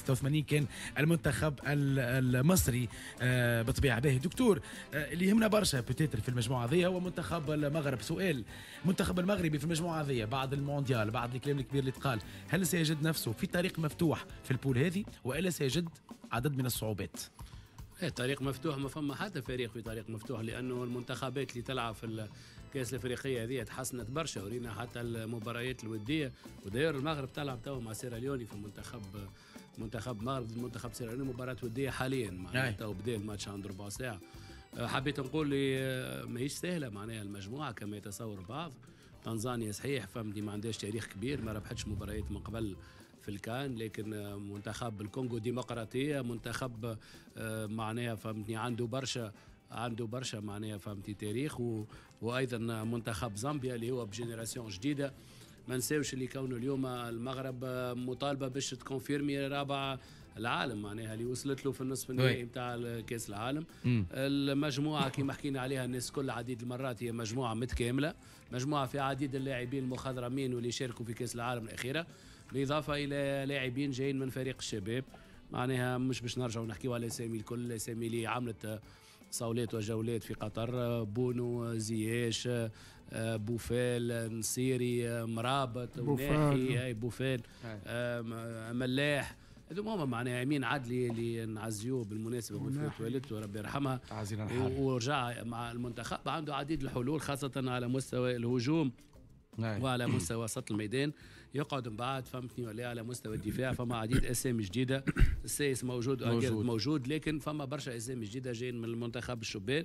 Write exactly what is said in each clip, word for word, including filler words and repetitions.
ستة وثمانين كان المنتخب المصري. آه بطبيعة باهي دكتور، آه اللي يهمنا برشا peut-être في المجموعة هذه هو منتخب المغرب. سؤال، المنتخب المغربي في المجموعة هذه بعد المونديال، بعد الكلام الكبير اللي تقال، هل سيجد نفسه في طريق مفتوح في ال poule هذه والا سيجد عدد من الصعوبات؟ إيه، طريق مفتوح ما فما حتى فريق في طريق مفتوح، لانه المنتخبات اللي تلعب في الكاس الافريقية هذه تحسنت برشا، ورينا حتى المباريات الوديه. وداير المغرب تلعب تو مع سيراليوني في منتخب منتخب المغرب ضد منتخب سيراليوني مباراة وديه حاليا، معناها تو بدا الماتش عند ربع ساعة. حبيت نقول لي ماهيش سهلة معناها المجموعة كما يتصور البعض. تنزانيا صحيح فهمتني ما عندهاش تاريخ كبير، ما ربحتش مباريات من قبل في الكان، لكن منتخب الكونغو ديمقراطية منتخب معناها فهمتني عنده برشا عنده برشا معناها فهمتني تاريخ، و... وايضا منتخب زامبيا اللي هو ب génération جديدة. ما نساوش اللي كونه اليوم المغرب مطالبه باش ت confirmer رابع العالم، معناها اللي وصلت له في النصف النهائي نتاع كاس العالم. مم. المجموعة كما حكينا عليها الناس كل عديد المرات هي مجموعة متكاملة، مجموعة في عديد اللاعبين المخضرمين واللي شاركوا في كاس العالم الاخيرة، بالاضافة الى لاعبين جايين من فريق الشباب. معناها مش باش نرجعوا نحكيو على اسامي الكل، الاسامي اللي عملت صولات وجولات في قطر، بونو، زياش، بوفال، نصيري، مرابط، وناحي، بوفال، ملاح، هذوما هما معناها امين عدلي اللي نعزيوه بالمناسبة بوفاة والدته ربي يرحمها، ورجع مع المنتخب عنده عديد الحلول خاصة على مستوى الهجوم وعلى مستوى وسط الميدان. يقعد من بعد فهمتني ولا على مستوى الدفاع فما عديد اسامي جديدة، السايس موجود موجود, موجود لكن فما برشا اسامي جديدة جايين من المنتخب الشبان.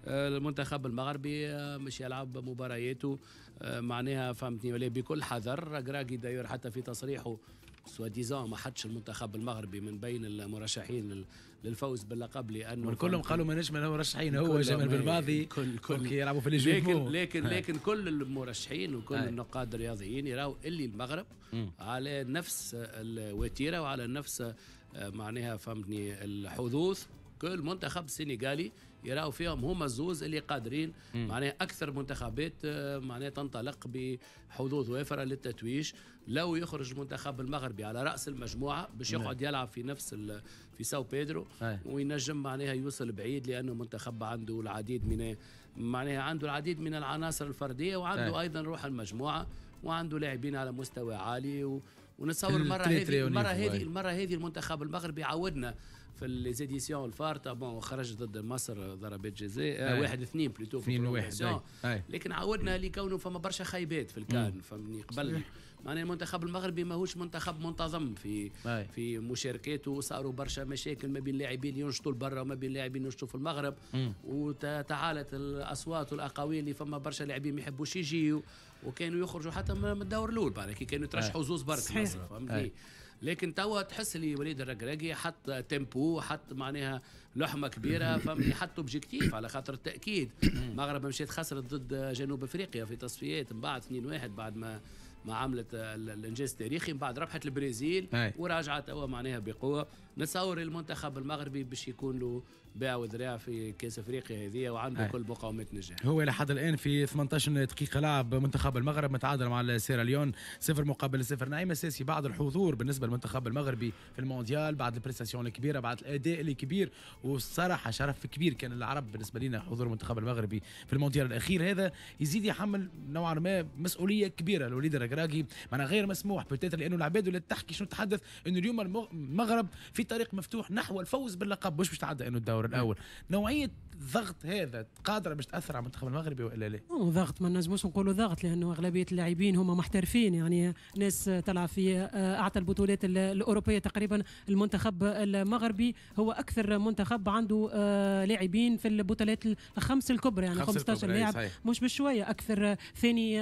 آه المنتخب المغربي آه مش يلعب مبارياته آه معناها فهمتني ولا بكل حذر. ركراكي d'ailleurs حتى في تصريحه soi-disant ما حدش المنتخب المغربي من بين المرشحين للفوز باللقب، لانه كلهم قالوا ماناش من المرشحين، هو جمال بالماضي كل كل يلعبوا في لكن لكن لكن كل المرشحين وكل النقاد الرياضيين يراو اللي المغرب م. على نفس الوتيره وعلى نفس معناها فهمتني الحظوظ. كل منتخب السنغالي يراو فيهم هما الزوز اللي قادرين، معناها اكثر منتخبات معناها تنطلق بحظوظ وافرة للتتويج. لو يخرج المنتخب المغربي على راس المجموعة باش يقعد يلعب في نفس في ساو بيدرو وينجم معناها يوصل بعيد، لانه منتخب عنده العديد من معناها عنده العديد من العناصر الفردية، وعنده ايضا روح المجموعة، وعنده لاعبين على مستوى عالي. و ونتصور المرة هذه المرة هذه المرة هذه المنتخب المغربي عودنا في les éditions الفارطه، bon خرج ضد مصر ضربات جزاء واحد اثنين plutôt اثنين واحد، لكن عودنا لكونه فما برشا خيبات في الكان فهمني قبل. معناها المنتخب المغربي ماهوش منتخب منتظم في أي. في مشاركاته، صاروا برشا مشاكل ما بين لاعبين ينشطوا لبرا وما بين لاعبين ينشطوا في المغرب، وتعالت الاصوات والاقاويل اللي فما برشا لاعبين ما يحبوش يجيو وكانوا يخرجوا حتى من الدور الاول، معناها كي كانوا يترشحوا زوز برك فهمتني. لكن توا تحس اللي وليد الركراكي حط tempo، حط معناها لحمه كبيرة فهمتني، حط objectif على خاطر التاكيد. المغرب مشيت خسرت ضد جنوب افريقيا في تصفيات من بعد اثنين واحد بعد ما ما عملت الانجاز التاريخي، من بعد ربحت البرازيل وراجعت توا معناها بقوة. نتصور المنتخب المغربي باش يكون له باع وذراع في كاس افريقيا هذه وعنده كل مقومات نجاح. هو لحد الان في ثمانية عشر دقيقة لعب منتخب المغرب متعادل مع سيراليون صفر مقابل صفر. نعيم الساسي، بعد الحضور بالنسبة للمنتخب المغربي في المونديال، بعد ال prestation الكبيرة، بعد الاداء الكبير، والصراحة شرف كبير كان العرب بالنسبة لنا حضور المنتخب المغربي في المونديال الاخير، هذا يزيد يحمل نوعا ما مسؤولية كبيرة لوليد الركراكي، معناها غير مسموح peut-être لانه العباد ولا تحكي شنو تحدث انه اليوم المغرب في طريق مفتوح نحو الفوز باللقب، مش باش تعدى انه الدور الاول. نوعية الضغط هذا قادرة باش تاثر على المنتخب المغربي والا لا؟ ضغط ما نجموش نقولوا ضغط، لانه اغلبية اللاعبين هما محترفين، يعني ناس تلعب في اعتى البطولات الاوروبية تقريبا. المنتخب المغربي هو اكثر منتخب عنده لاعبين في البطولات الخمس الكبرى، يعني خمسة عشر لاعب مش بشوية، اكثر ثاني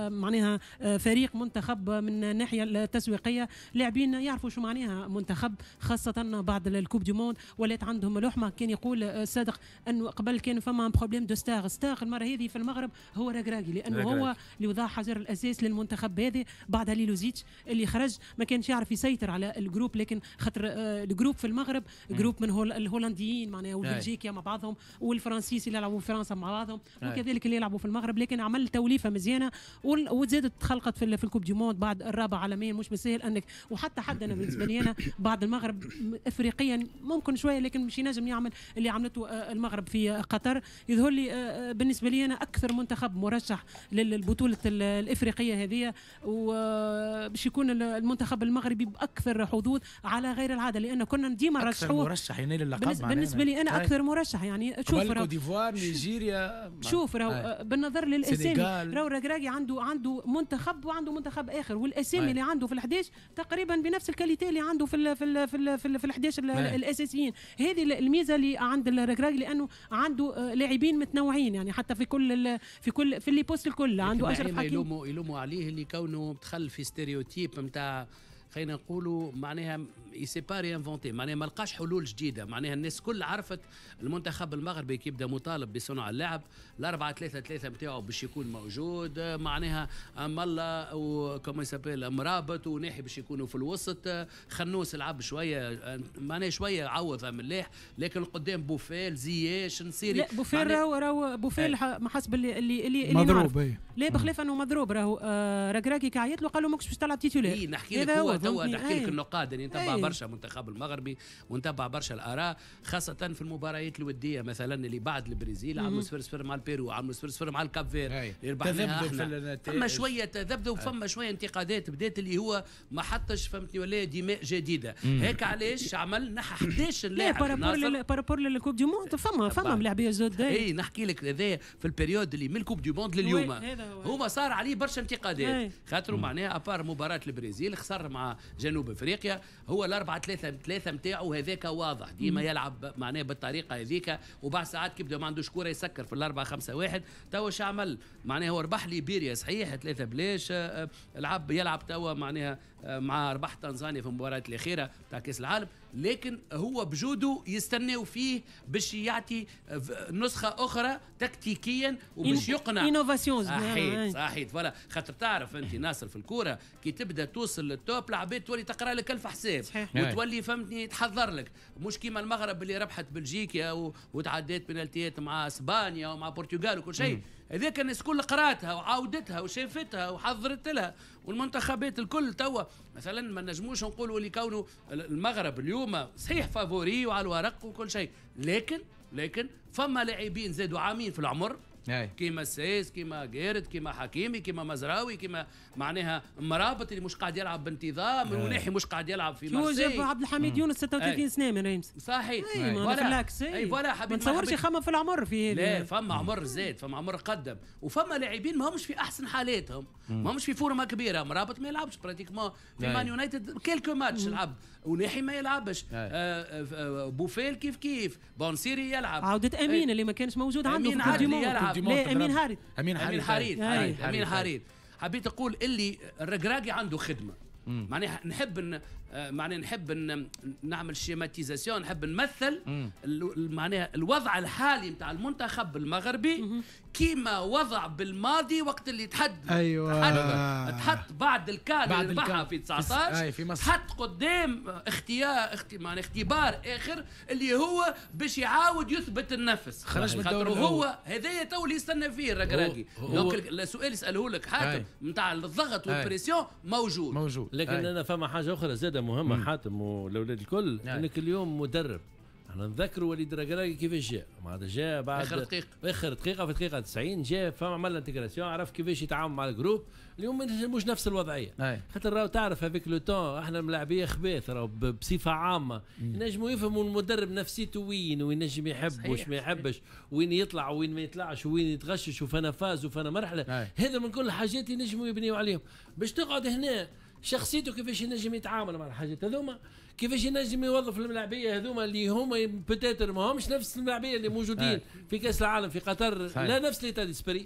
معناها فريق منتخب من الناحية التسويقية، لاعبين يعرفوا شو معناها منتخب، خاصة بعد ال coupe du monde ولات عندهم لحمه. كان يقول صادق انه قبل كان فما problème de star، star المرة هذه في المغرب هو ركراكي، لانه ركراكي. هو اللي وضع حجر الاساس للمنتخب هذا بعد هاليلوزيتش اللي خرج ما كانش يعرف يسيطر على ال groupe، لكن خاطر ال groupe في المغرب groupe من هول الهولنديين معناها والبلجيكيا مع بعضهم والفرنسيس اللي يلعبوا في فرنسا مع بعضهم وكذلك اللي يلعبوا في المغرب، لكن عمل توليفة مزيانه وزادت تخلقت في في ال Coupe du Monde بعد الرابع عالميا. مش بالسهل انك وحتى حد انا بالنسبة لي انا بعد المغرب افريقيا ممكن شوية، لكن مش ينجم يعمل اللي عملته المغرب في قطر. يظهر لي بالنسبة لي انا اكثر منتخب مرشح للبطولة الافريقية هذه، وباش يكون المنتخب المغربي باكثر حظوظ على غير العادة، لان كنا ديما نرشحوه مرشح ينال اللقب. بالنسبة لي انا اكثر مرشح يعني شوف كوت ديفوار، نيجيريا، شوف راهو بالنظر للاسامي راهو الركراكي عنده عنده منتخب وعنده منتخب اخر، والاسامي اللي عنده في الحداش تقريبا بنفس ال qualité اللي عنده في ال في ال في ال في, ال في الحداش الاساسيين. هذه الميزة اللي عند الركراكي، لانه عنده لاعبين متنوعين يعني حتى في كل في كل في les postes الكل عنده اشرف حكيمي. يلوموا يلوموا عليه اللي كونه دخل في stéréotype نتاع خلينا نقولوا معناها il s'est pas réinventé، معناها ما لقاش حلول جديدة. معناها الناس كل عرفت المنتخب المغربي كي يبدا مطالب بصنع اللعب الأربعة ثلاثة ثلاثة نتاعو باش يكون موجود، معناها ملا و comment il s'appelle مرابط وناحي باش يكونوا في الوسط، خنوس لعب شوية معناها شوية عوض ملاح، لكن قدام بوفال زياش نصيري. لا بوفال راهو راهو بوفال ما حسب اللي اللي اللي مضروب. لا بخلاف انه مضروب راهو آه ركراكي كعيط له قال له ماكش باش تلعب titulaire. اي نحكي لك هو توا نحكي لك النقاد اللي نتبع برشا المنتخب المغربي ونتبع برشا الاراء، خاصة في المباريات الودية مثلا اللي بعد البرازيل عملوا صفر صفر مع البيرو، عملوا صفر صفر مع الكاب فير اللي ربحناها احنا. فما شوية تذبذب وفما شوية انتقادات بدات اللي هو ما حطش فهمتني ولا دماء جديدة. هيك علاش عمل نحى حداش لاعب par rapport لل Coupe du Monde فما فما ملاعبيه جدد. اي نحكي لك هذايا في ال période اللي من ال Coupe du Monde لليوم هما صار عليه برشا انتقادات، خاطر معناها à part مباراة البرازيل خسر مع جنوب افريقيا، هو الأربعة ثلاثة ثلاثة نتاعو هذاك واضح ديما يلعب معناه بالطريقة هذيك، وبعد ساعات كي بدا ما عندوش كورة يسكر في الأربعة خمسة واحد. توا شو عمل؟ معناها هو ربح ليبيريا صحيح ثلاثة بلاش، لعب يلعب توا معناها مع ربح تنزانيا في المباراة الأخيرة تاع كأس العالم، لكن هو بجوده يستناو فيه باش يعطي نسخة أخرى تكتيكيا وباش يقنع innovation. صحيح صحيح voilà، خاطر تعرف أنت ناصر في الكورة كي تبدا توصل لل top العباد تولي تقرا لك ألف حساب وتولي فهمتني تحضر لك، مش كيما المغرب اللي ربحت بلجيكا وتعدات بنالتيات مع اسبانيا ومع البرتغال وكل شيء، هذاك الناس الكل قراتها وعاودتها وشافتها وحضرت لها، والمنتخبات الكل توا مثلا ما نجموش نقولوا اللي كونه المغرب اليوم صحيح favori وعلى الورق وكل شيء، لكن لكن فما لاعبين زادوا عامين في العمر كيما السايس كيما جيرد كيما حكيمي كيما مزراوي كيما معناها مرابط اللي مش قاعد يلعب بانتظام، وناحي مش قاعد يلعب في مارسيل. جاب عبد الحميد يونس ستة وثلاثين سنة من ريمس. صحيح voilà اي voilà حبيبي، ما تصورش يخمم في العمر في لا فما عمر زاد، فما عمر قدم، وفما لاعبين ما همش في احسن حالاتهم، ما همش في forme كبيرة. مرابط ما يلعبش pratiquement في مان يونايتد quelques matchs لعب، وناحي ما يلعبش، بوفيل كيف كيف، بونسيري يلعب، عودة امين اللي ما كانش موجود عنده في يلعب. لا امين هاريت امين حريت امين حريت. حبيت اقول اللي الركراكي عنده خدمة، معناها نحب ن... معناها نحب ن... نعمل schématisation، نحب نمثل معناها الوضع الحالي نتاع المنتخب المغربي كيما وضع بالماضي وقت اللي تحد ايوه تحد, تحط بعد الكان اللي ربحها في تسعطاش في مصر، تحط قدام اختيار اخت... معناها اختبار اخر اللي هو باش يعاود يثبت النفس، خرج من الدور هو هذايا تو اللي يستنى فيه الركراكي. donc السؤال يساله لك حاتم نتاع الضغط وال pression موجود موجود، لكن أي. انا فما حاجة اخرى زاده مهمة حاتم والاولاد الكل، انك اليوم مدرب احنا نذكروا وليد الركراكي كيفاش جاء، معناتها جاء بعد اخر دقيقة اخر دقيقة في دقيقة تسعين جاء فما عمل intégration، عرف كيفاش يتعامل مع ال groupe. اليوم مش نفس الوضعية، خاطر راهو تعرف avec le temps احنا ملاعبيه خباث راهو بصفة عامة ينجموا يفهموا المدرب نفسيته وين وينجم يحب وش ما يحبش، وين يطلع وين ما يطلعش، وين يتغشش وفانا phase وفانا مرحلة. هذا من كل الحاجات ينجموا يبنيوا عليهم باش تقعد هنا شخصيته كيفاش ينجم يتعامل مع الحاجات هذوما، كيفاش ينجم يوظف الملاعبيه هذوما اللي هما peut-être ما همش نفس الملاعبيه اللي موجودين في كاس العالم في قطر، لا نفس l'état d'esprit،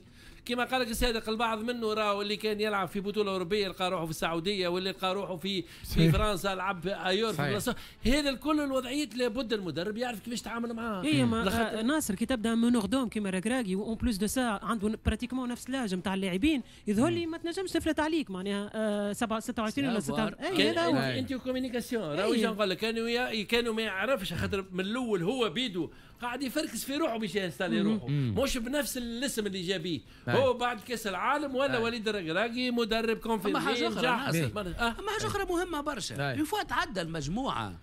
كما قال لك الصادق البعض منه راهو اللي كان يلعب في بطوله اوروبية لقى روحه في السعودية، واللي لقى روحه في في فرنسا لعب ailleurs في بلاصة. هذا الكل الوضعيات لابد المدرب يعرف كيفاش يتعامل معاها. اي ما ناصر كي تبدا meneur d'hommes كيما ركراكي و en plus de ça عنده pratiquement نفس l'âge نتاع اللاعبين، يظهر لي ما تنجمش تفلت عليك معناها سبعة ستة وعشرين ولا ستة. اي هذا هو انت communication راهو نقول لك كانوا كانوا ما يعرفش، خاطر من الاول هو بيدو قاعد يفركس في روحه باش ي installer روحه، مش بنفس الاسم اللي جابيه هو بعد كاس العالم. ولا وليد الركراكي مدرب confirmé. اما حاجة اخرى اما حاجة اخرى مهمة برشا، une fois تعدى المجموعة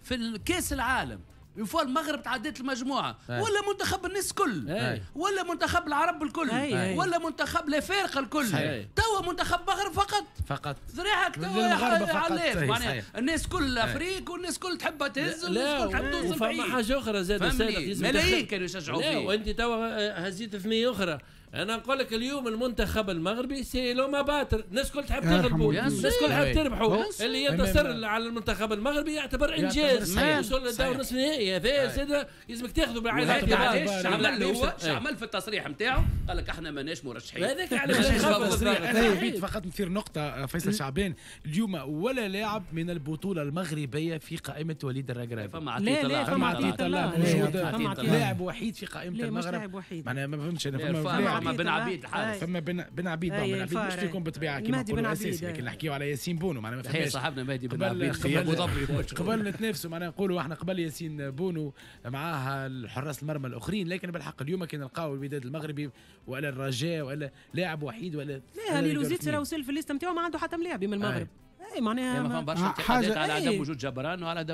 في الكاس العالم، une fois المغرب تعدت المجموعة ولا منتخب الناس الكل ولا منتخب العرب الكل ولا منتخب الافارقة الكل، توا منتخب المغرب فقط فقط ذراعك توا يا معناها الناس كل Afrique والناس كل تحب تهز والناس كل تحب توصل بعيد. فما حاجة اخرى زاد صادق، ملايين كانوا يشجعوا فيه. وانت توا هزيت ثنيه اخرى. انا نقول لك اليوم المنتخب المغربي c'est l'homme à battre، الناس الكل تحب تغلبوا، الناس الكل تحب تربحوا، اللي ينتصر على المنتخب المغربي يعتبر انجاز، يوصل للدور نصف النهائي. هذا زاد لازمك تاخذه بعين الاعتبار. اش عمل هو؟ اش عمل في التصريح نتاعو؟ قال لك احنا ماناش مرشحين. هذاك علاش انا حبيت فقط نثير نقطة فيصل شعبان، اليوم ولا لاعب من البطولة المغربية في قائمة وليد الركراكي. فما عطية الله، فما عطية الله موجود، لاعب وحيد في قائمة المغرب. معناها ما فهمتش انا، فما بن عبيد الحارس، فما بن بن عبيد، بن عبيد مش يكون بالطبيعة كيما نقولوا اساسي، لكن نحكيو على ياسين بونو معناها ما فهمش. صاحبنا مهدي بن عبيد في ابو ظبي قبل نتنافسوا معناها نقولوا احنا قبل ياسين بونو معاه الحراس المرمى الاخرين، لكن بالحق اليوم كي نلقاو الوداد المغربي ولا الرجاء ولا لاعب وحيد ولا لا هاليلوزيتش راه وصل في ال liste نتاعو ما عنده حتى ملاعب من المغرب. اي معناها ما فما برشا انتقادات على عدم وجود جبران وعلى عدم